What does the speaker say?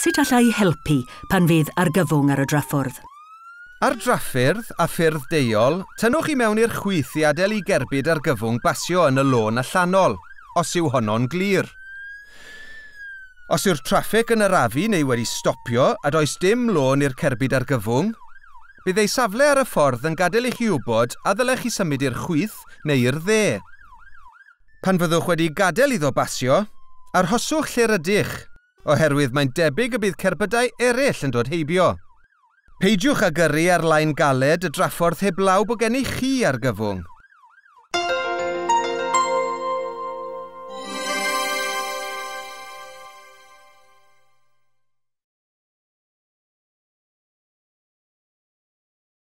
Sut alla i helpu pan fydd argyfwng ar y draffordd? Ar draffyrdd a ffyrdd deuol, tynnwch i mewn i'r chwith i adael i gerbyd argyfwng basio yn y lôn allanol, os yw honno'n glir. Os yw'r traffig yn arafu neu wedi stopio a does dim lôn i'r cerbyd argyfwng, bydd ei safle ar y ffordd yn gadael i chi wybod a ddylech chi symud i'r chwith neu i'r dde. Pan fyddwch wedi gadael iddo basio, arhoswch lle rydych, oherwydd mae'n debyg y bydd cerbydau eraill yn dod heibio. Peidiwch â gyrru ar lain galed y draffordd heblaw bod gennych chi argyfwng.